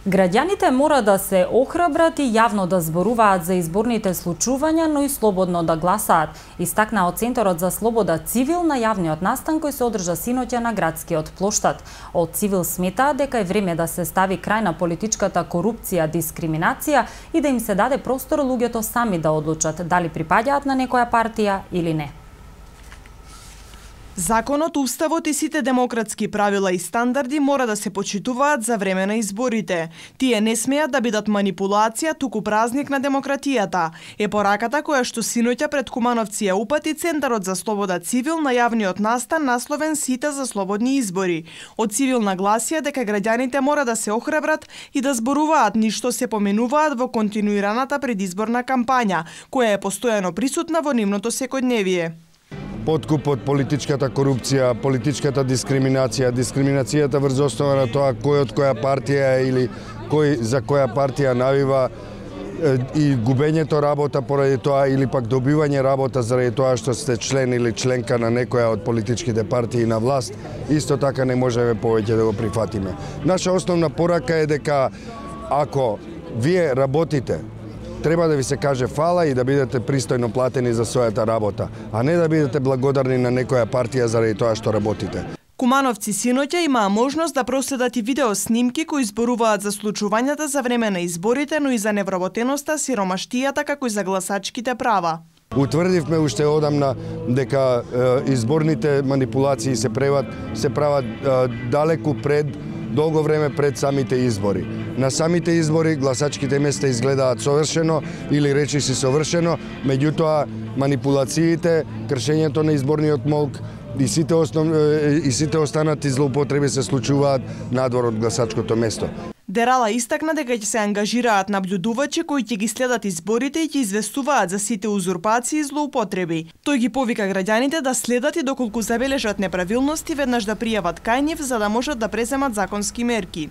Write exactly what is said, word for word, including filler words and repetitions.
Граѓаните мора да се охрабрат и јавно да зборуваат за изборните случувања, но и слободно да гласаат, истакна од Центарот за слобода Цивил на јавниот настан кој се одржа синоќа на градскиот плоштад. Од Цивил сметаат дека е време да се стави крај на политичката корупција, дискриминација и да им се даде простор луѓето сами да одлучат дали припаѓаат на некоја партија или не. Законот, уставот и сите демократски правила и стандарди мора да се почитуваат за време на изборите. Тие не смеат да бидат манипулација, туку празник на демократијата. Е пораката која што синоќа пред Кумановци ја упати Центарот за слобода Цивил на јавниот настан насловен Сите за слободни избори. Од Цивил нагласија дека граѓаните мора да се охрабрат и да зборуваат ништо се поменуваат во континуираната предизборна кампања, која е постојано присутна во нивното секојдневие. Подкупот, политичката корупција, политичката дискриминација, дискриминацијата врз основа на тоа кој од која партија е или кој за која партија навива и губењето работа поради тоа или пак добивање работа заради тоа што сте член или членка на некоја од политичките партии на власт, исто така не можеме повеќе да го прифатиме. Наша основна порака е дека ако вие работите, треба да ви се каже фала и да бидете пристојно платени за својата работа, а не да бидете благодарни на некоја партија заради тоа што работите. Кумановци синоќа имаа можност да проследат и видео снимки кои зборуваат за случувањата за време на изборите, но и за невработеноста, сиромаштијата, како и за гласачките права. Утврдивме уште одамна дека е, изборните манипулации се прават се прават е, далеку пред долго време пред самите избори. На самите избори гласачките места изгледаат совршено или речиси совршено, меѓутоа манипулациите, кршењето на изборниот молк и сите основ... и сите останати злоупотреби се случуваат надвор од гласачкото место. Дерала истакна дека ќе се ангажираат наблюдувачи кои ќе ги следат изборите и ќе известуваат за сите узурпации и злоупотреби. Тој ги повика граѓаните да следат и доколку забележат неправилности веднаш да пријават кај нив за да можат да преземат законски мерки.